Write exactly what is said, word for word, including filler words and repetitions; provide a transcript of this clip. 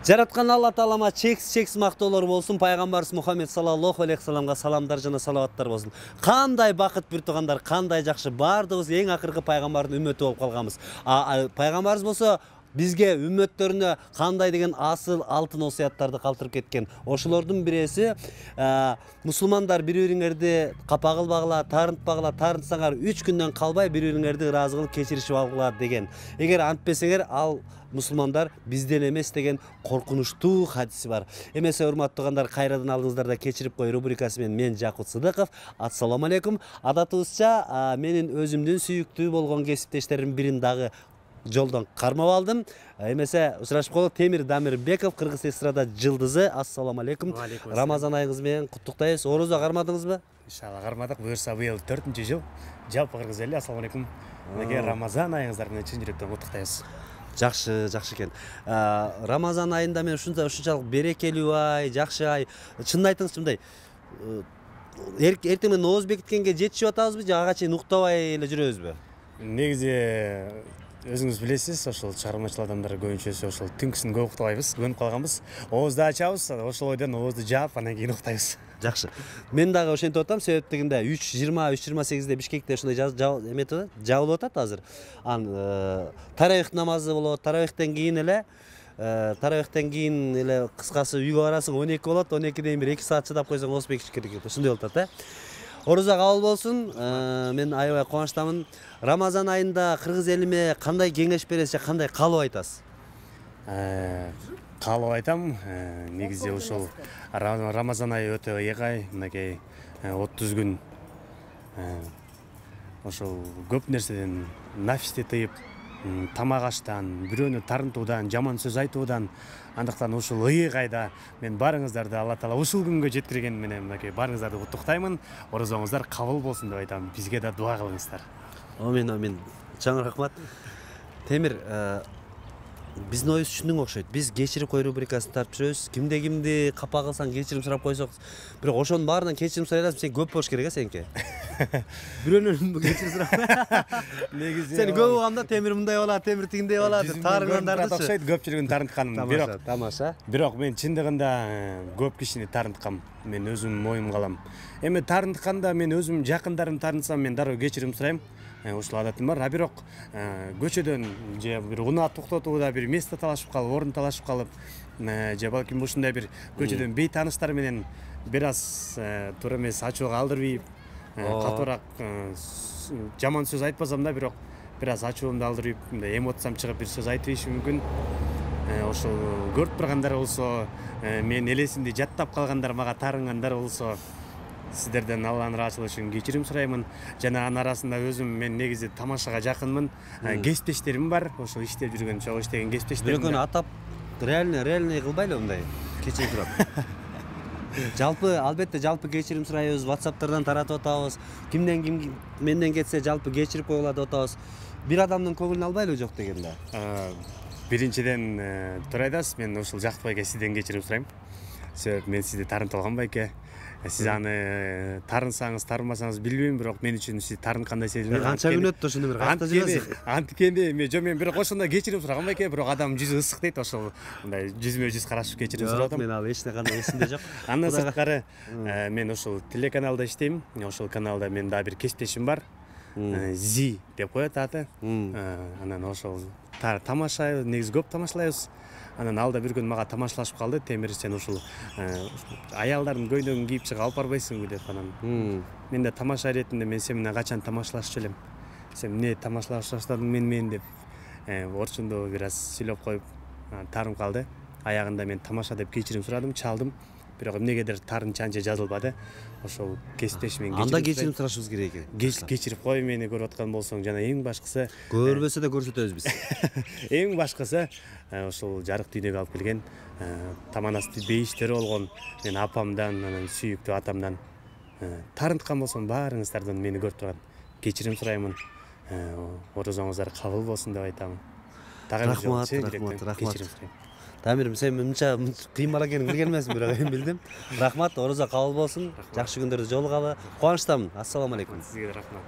Жараткан Алла Таалама чексиз чексиз мактоолор болсун. Пайгамбарыбыз Мухаммед саллаллаху алейхи саламга саламдар жана салаваттар болсун. Кандай бакыт бир тугандар, кандай жакшы, баардыгыбыз эң акыркы пайгамбардын үммөтү болуп калганбыз. А пайгамбарыбыз болсо бизге үммөттөрүнө кандай деген асыл алтын осуяттарды калтырып кеткен. Ошолордун биреси мусулмандар бири-бириңерди капа кылбагыла, тарынтпагыла, тарынтсаңар үч күндөн калбай бири-бириңерди ыраазы кылып кечиришип алгыла деген. Эгер антпесеңер ал мусулмандар бизден эмес деген коркунучтуу хадиси бар. Эмесе урматтуу тугандар, кайрадан алдыңыздарда кечирип кой рубрикасы менен мен Жакут Сыдыков. Ассаламу алейкум. Адатыбызча менин өзүмдүн сүйүктүү болгон кесиптештеримдин бирин дагы жолдон кармап алдым. Эмесе учурашып калып Темир Дамирбеков, кыргыз эстрада жылдызы. Ассаламу алейкум. Рамазан айыңыз менен куттуктайбыз. Орозо кармадыңызбы? Иншалла кармадык. Буюрса быйыл төртүнчү жыл. Жалпы кыргыз эли ассаламу алейкум. Мынакей Рамазан айыңыздар менен чын жүрөктөн куттуктайбыз. Жакшы, жакшы экен. Рамазан айында мен ушунчалык берекелүү ай, жакшы ай. Чынын айтыңызчы, мындай эртең менен нооз бекиткенге жетишип атабызбы же ага чейин уктабай эле жүрөбүзбү? Негизи өзүңүз билесиз, ошол чыгармачыл адамдар көбүнчөсү ошол түнкүсүн көп уктабайбыз, көнүп калганбыз. Оозду ачабыз, ошол ойдон оозду жаап, анан кийин уктайбыз. Жакшы. Мен дагы ошентип атам, себеп дегенде үч жыйырма, үч жыйырма сегизде Бишкекте ушундай эметип атат, жабылып атат азыр. Ан таравих намазы болот, таравихтен кийин эле таравихтен кийин эле кыскасы үйгө барасың, он эки болот, он экиден бир эки саат чыдап койсоң ооз бекиш керек. Ушундай болуп атат, э. Орозо кабыл болсун. Мен аябай кубанычтамын. Рамазан айында кыргыз элиме кандай кеңеш бересиз же кандай каалоо айтасыз? Каалоо айтам. Негизи ошол Рамазан айы өтө эгай, мынакей отуз күн ошол көп нерседен нафисти тыйып, тамак аштан, бирөөнү тарынтуудан, жаман сөз айтуудан, андыктан ушул ыйык айда мен баарыңыздарды Алла Таала ушул күнгө жеткирген менен мынакей баарыңыздарды куттуктаймын. Орозоңуздар кабыл болсун деп айтам. Бизге да дуа кылыңыздар. Амин, амин. Чоң рахмат. Темир, биздин оюбуз түшүндүң окшойт. Биз кечирип кой рубрикасын тартып жүрөбүз. Кимде кимди капа кылсаң кечирим сурап койсок, бирок ошонун баарынан кечирим сурай аласың, сен көп болуш керек э сеники. Бирөөнөн кечирим сурап. Негизи сен көп болгондо Темир мындай болот, Темир тигиндей болот деп таарыгандардычы. Окшойт, көпчүлүгүн тарынтканым. Бирок тамаша. Бирок мен чындыгында көп кишини тарынткам. Мен өзүм моюмга алам. Эми тарынтканда мен өзүм жакындарым тарынсам мен дароо кечирим сурайм. Ушул адатым бар. А бирок көчөдөн же бир унаа токтотууда бир место талашып калып, орун талашып калып, же балким ушундай бир көчөдөн бейтааныштар менен бир аз туура эмес ачууга алдырбайып, катуураак жаман сөз айтпасам да, бирок бир аз ачуумду алдырып, мындай эмоциям чыгып бир сөз айтып ийишим мүмкүн. Ошол көрүп тургандар болсо, мен элесимди жаттап калгандар, мага тарынгандар болсо, сиздерден Алланын ыраазычылыгы үчүн кечирим сураймын. Жана анын арасында өзүм мен негизи тамашага жакынмын. Кесиптештерим бар, ошол иштеп жүргөн, чогуу иштеген кесиптештерим. Бирөөнү атап реально реально кылбайлы мындай кечирим сурап. Жалпы албетте жалпы кечирим сурайбыз, WhatsApp'тардан таратып атабыз. Кимден ким менден кетсе жалпы кечирип койгула деп атабыз. Бир адамдын көңүлүн албайлы жок дегенде. Биринчиден туура айтасыз, мен ушул жакпайке сизден кечирим сурайм. Себеп мен сизди тарынтып алгам байке. Сиз аны тарынсаңыз, тарынбасаңыз билбейм, бирок мен үчүн сиз тарынткандай сезилет. Канча күн өттү ошондо бир кайта жүрөсүз. Анткени мен жо мен бирок ошондо кечирим сурагам байке, бирок адам жүзү ысык дейт, ошол мындай жүзмө жүз карашып кечирим сурап атам. Мен ал эч кандай эсимде жок. Андан сырткары мен ошол телеканалда иштейм. Ошол каналда мен дагы бир кесиптешим бар. Зи деп коет аты. Анан ошол тамаша, негизи көп тамашалайбыз. Анан алда бир күн мага тамашалашып калды. Темир, сен ушул аялдардын көйнөгүн кийип чыгып алып барбайсыңбы деп анан. Мен да тамаша иретинде мен сен менен качан тамашалашчу элем. Сен эмне тамашалашып баштадың мен мен деп орчундо бир аз сүйлөп коюп тарынып калды. Аягында мен тамаша деп кечирим сурадым, чалдым. Бирок эмнегедир тарынчы анча жазылбады. Ошол кесиптешимен кечирим. Анда кечирим сурашыбыз керек экен. Кечирип кой, мени көрүп аткан болсоң, жана эң башкысы көрбөсө да көрсөтөбүз биз. Эң башкысы ошол жарык дүйнөгө алып келген таманасты бейиштери болгон мен апамдан, анан сүйүктүү атамдан тарынткан болсом баарыңыздардан мени көрүп турган кечирим сураймын. Орозоңуздар кабыл болсун деп айтам. Рахмат, рахмат, рахмат. Тамир, сен мынча кыйын бала экенин билген эмесмин, бирок эми билдим. Рахмат, орозо кабыл болсун. Жакшы күндөрдө жолугалы. Кубанычтамын. Ассаламу алейкум. Сизге рахмат.